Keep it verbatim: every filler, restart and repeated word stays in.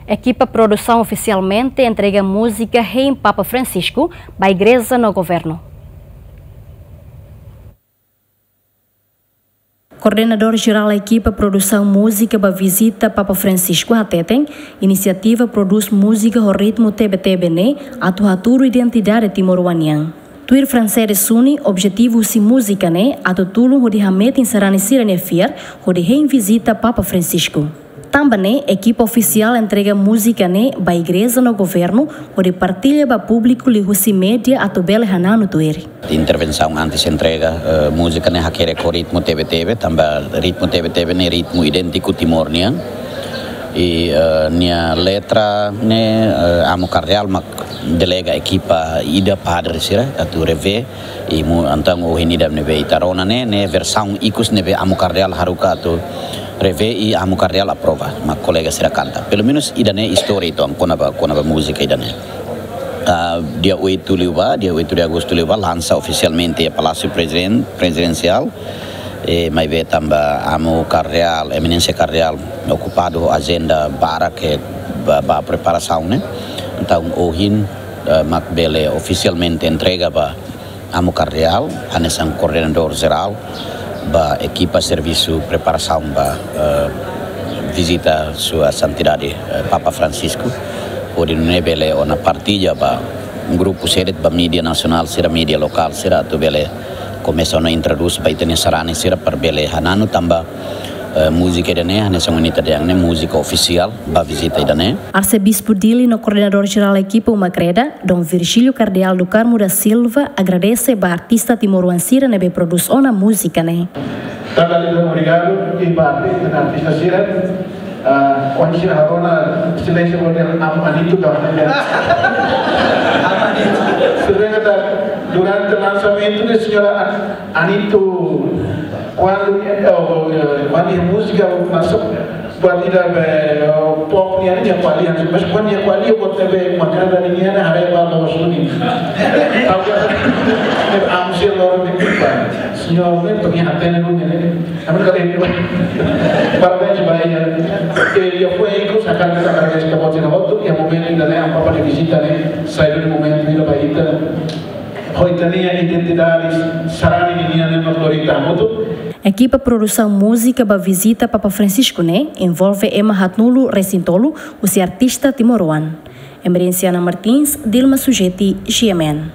Ekipa produsaun ofisialmente entrega múzika hein Papa Francisco ba igreja no governu. Koordenadór Jerál Ekipa Produsaun Múzika ba Vizita Papa Francisco hateten, inisiativa prodús múzika ho ritmu tebe-tebe ne'e atu hatudu identidade timoroan nian. Tuir Francedes Suni, objetivu husi múzika ne'e atu tulun hodi hametin sarani sira-nia fiar hodi hein vizita Papa Francisco. Tanba ne'e, ekipa ofisiál entrega múzika ne'e ba igreja no governu hodi partilla ba públiku liuhusi média atu bele hananu tuir. Intervensaun antes entrega, eh, múzika ne'e hakerek ho ritmu tebe-tebe, tanba ritmu tebe-tebe ne'e ritmu idéntiku Timor nian. I, eh, nia letra ne'e, eh, Amu Kardeál mak delega ekipa ida padre sira atu revee, i mu entaun ohin ida ne'ebé ita rona ne'e, ne'e versaun ikus ne'ebé Amu Kardeál haruka atu revee i Amu Kardeál aprova, mak kolega sira kanta. Pelumenus ida-ne'e istória uitoan kona-ba, kona-ba múzika ida-ne'e. Ah, dia oito liubá, dia oito de agosto liubá, lansa ofisialmente iha Palásiu Preziden-, Prezidensiál. E maibé tanba Amu Kardeál, Eminénsia Kardeál, okupadu ho ajenda barak ke ba, ba preparasaun ne'e. Entaun ohin, eh, mak bele ofisialmente entrega ba Amu Kardeál, hanesan koordenadór jerál, ba ekipa servisu preparasaun ba, eh, vizita Sua Santidade, eh, Papa Francisco, hodi nune'e bele ona partilla ba grupu sira de'it, ba média nasionál sira, média lokál sira, atu bele komesa ona introdús ba ita-nia sarani sira para bele hananu tanba, eh, múzika ida-ne'e, hanesan ohin ita dehan ne'e, múzika ofisiál ba vizita ida-ne'e. Arsebispu Dili no Koordenadór Jerál Ekipa Uma Kreda, Dom Virgílio Kardeál do Carmo da Silva, agradese ba artista timoroan sira ne'ebé prodús ona múzika ne'e. Tanba liu obrigadu i ba artista, artista sira, ah, ohin sira haree ona silénsiu, porque Amu Anito ka. Amu Anito. Sira kata durante lansamentu ne'e señora An-, Anito, kuandu, eh, oh, eh, kuandu múzika lansa, buat ida be, oh, pop nian, nia ko'alia, mas kuandu nia ko'alia buat ne'ebé mak ita-nia haree ba loos duni. Tahu kan? Amu sira loron ne'e, señór ne'e, pernah hatene duni ne'e. Ami kata, parabéns ba nia. E, nia foin ikus, hakarak ita agradese ba ita hotu, iha momentu ida-ne'e, Amu Papa nia vizita ne'e, sai duni momentu ida ba ita. Ho ita-nia identidade sarani nian ne'e, mak lori ita hamutuk. Ekipa produsaun múzika ba vizita Papa Francisco ne'e envolve ema haatnulu-resin-tolu husi artista timoroan. Emerenciana Martins, Dilma Sujeti, G M N.